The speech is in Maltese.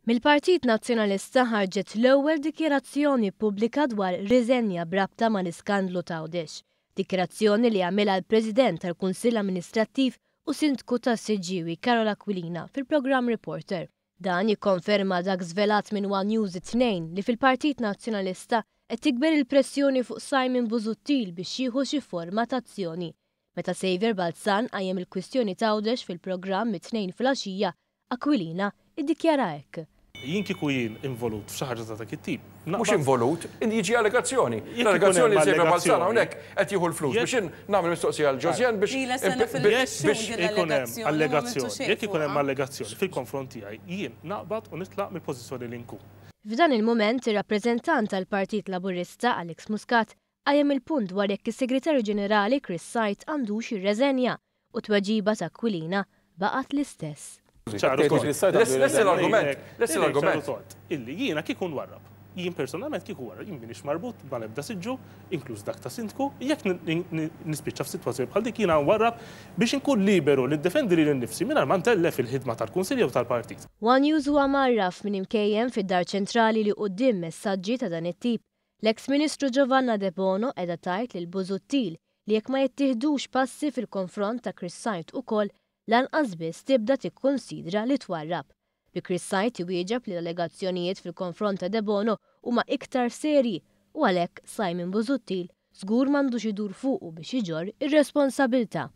Mill-Partit Nazzjonalista ħarġet l-ewwel dikjarazzjoni pubblika dwar riżenja b'rabta mal-iskandlu t'Għawdex. Dikjarazzjoni li għamilha l-President tal-Kunsill Amministrattiv u Sindku tas-Siġġiewi Karol Aquilina fil-programm Reporter. Dan jikkonferma dak żvelat minn one News it-Tnejn li fil-Partit Nazzjonalista qed tikber il-pressjoni fuq Simon Busuttil biex jieħu xi forma t'azzjoni. Meta Saviour Balzan qajjem il-kwistjoni t'Għawdex fil-programm it-Tnejn filgħaxija, Aquilina iddikjara hekk. Jien kieku jien involut f'xi ħaġa ta' dak it-tip, naqbad. Mhux involut, jiġi allegazzjoni. L-allegazzjoni li Saviour Balzan hawnhekk qed jieħu l-flus biex jien nagħmel mistoqsija lil Josianne biex. Ilha sena fil-mexxun din l-allegazzjoni. Allegazzjoni, jekk ikun hemm allegazzjoni fil-konfront tiegħi, jien naqbad u nitlaq mill-pożizzjoni li nkun. F'dan il-mument, ir-rappreżentant tal-Partit Laburista, Alex Muscat, qajjem il-punt dwar jekk is-Segretarju Ġenerali Chris Said għandux jirreżenja u t-tweġiba ta' Aquilina baqgħet l-istess. Ċar u tond. Lesti l-argument, lesti l-argument. Ċar u tond, illi jiena kieku nwarrab. Jien personalment kieku nwarrab, jien m'iniex marbut mal-ebda siġġu, inkluż dak ta' sindku, jekk nispiċċa f'sitwazzjoni bħal dik jiena nwarrab biex inkun liberu li niddefendi lili nnifsi mingħajr ma ntellef il-ħidma tal-Kunsill jew tal-partit. One News huwa mgħarraf minn imkejjen fid-Dar Ċentrali li quddiem messaġġi ta' dan it-tip, L-eks Ministru Giovanna Debono qiegħda tgħid lil Busuttil li jekk ma jittieħdux passi fil-konfront ta' Chris Said ukoll, lanqas biss tibda tikkunsidra li twarrab. Bi Chris Said iwieġeb li l-allegazzjonijiet fil-konfront ta' Debono huma iktar serji u għalhekk Simon Busuttil żgur m'għandux idur fuqu biex iġorr ir-responsabilità.